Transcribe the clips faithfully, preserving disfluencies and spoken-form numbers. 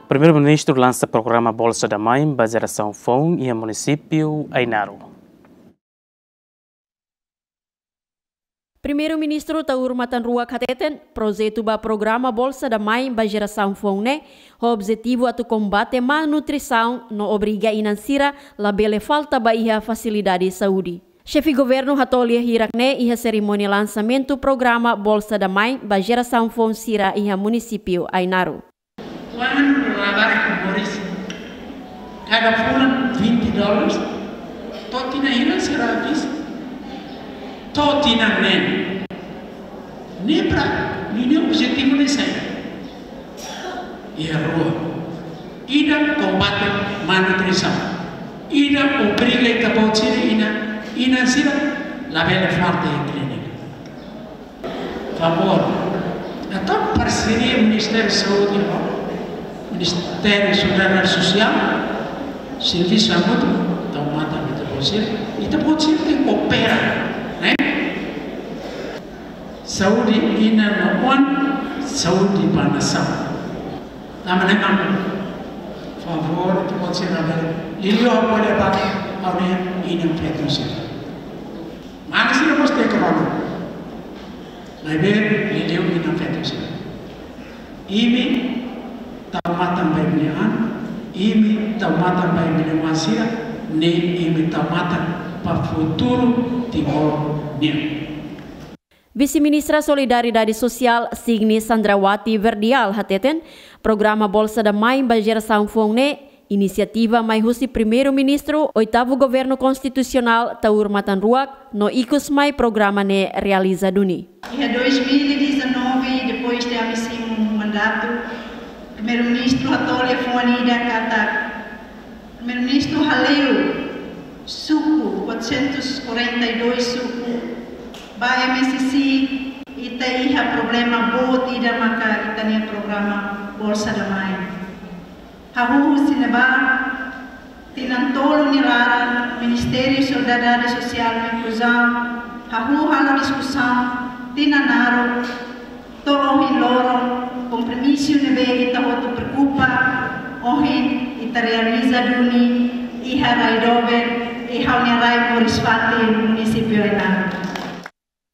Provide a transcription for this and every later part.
Primeiru-Ministru lansa programa Bolsa da Mãe ba jerasaun foun iha munisípiu Ainaro. Primeiru-Ministru Taur Matan Ruak hateten, projetu ba programa Bolsa da Mãe ba jerasaun foun ne'e, ho objetivu atu kombate malnutrisaun no obriga inan sira labele falta ba iha fasilidade saúde. Xefe Governu hato'o lia hirak ne'e iha serimónia lansamentu programa Bolsa da Mãe ba jerasaun foun sira iha munisípiu Ainaro. Kuandu labarik moris, kada fulan vinte dólares, to'o tinan hira sira bis, to'o tinan neen. Ne'e para, ne'e objetivu ne'e saida? Iha rua. Ida kombate malnutrisaun. Ida obriga ita-boot sira inan, inan sira labele falta iha klínika. Favór. Entaun, parseria Ministériu Saúde ho Ministériu Solidariedade Sosiál, servisu hamutuk, tau matan ita-boot sira, ita-boot sira tenke koopera, ne'e? Saúde inan no oan, saúde ba nasaun. Tanba ne'e mak, favór, ita-boot sira labele, liuliu ha'u bele ba, ha'u ne'e inan feto sira. Mane sira mós tenke rona. Maibé, liuliu inan feto sira. Imi tau matan ba imi-nia an, imi tau matan ba imi-nia oan sira, ne'e imi tau matan ba futuru Timor nian. Vise-Ministra Solidariedade Sosiál, Signy Sandrawati Verdial, hateten, programa Bolsa da Mãe ba jerasaun foun ne'e, inisiativa mai husi Primeiru-Ministru, Oitavu Governu Konstitusionál, Taur Matan Ruak, no ikus mai programa ne'e realiza duni. Iha dois mil e dezanove, depois de ami simu mandatu, Primeiru-Ministru hato'o liafuan ida katak, Primeiru-Ministru hale'u suku, quatrocentos e quarenta e dois suku, ba M S C, ita iha problema boot ida maka ita-nia programa Bolsa da Mãe. Hahú husi ne'ebá, tinan tolu nia laran, Ministériu Solidariedade Sosiál no Inkluzaun, hahú halo diskusaun, tinan naruk, to'o ohin loron, kompromisu ne'ebé ita hotu preokupa, ohin ita realiza duni, iha rai doben, iha ha'u-nia rai moris-fatin, munisípiu Ainaro.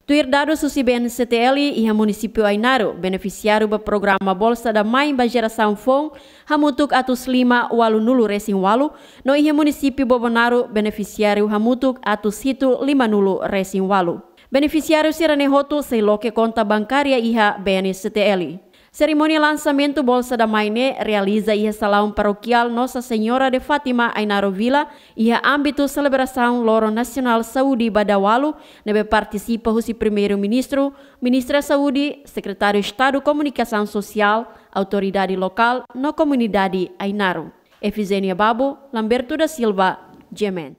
Tuir dadus husi B N C T L, iha munisípiu Ainaro, benefisiáriu ba programa Bolsa da Mãe ba jerasaun foun, hamutuk atus lima ualunulu resin ualu, no iha munisípiu Bobonaro, benefisiáriu hamutuk atus hitu limanulu resin ualu. Benefisiáriu sira-ne'e hotu sei loke konta bankária iha B N C T L. Serimónia lansamentu Bolsa da Mãe ne'e realiza iha salaun parokiál Nossa Senhora de Fátima Ainaro Vila, iha ámbitu selebrasaun Loron Nasionál Saúde ba dala ualu, ne'ebé partisipa husi Primeiru-Ministru, Ministra Saúde, Sekretáriu Estadu Komunikasaun Sosiál, autoridade lokál no komunidade Ainaro. Efigénia Babo, Lamberto da Silva, G M N.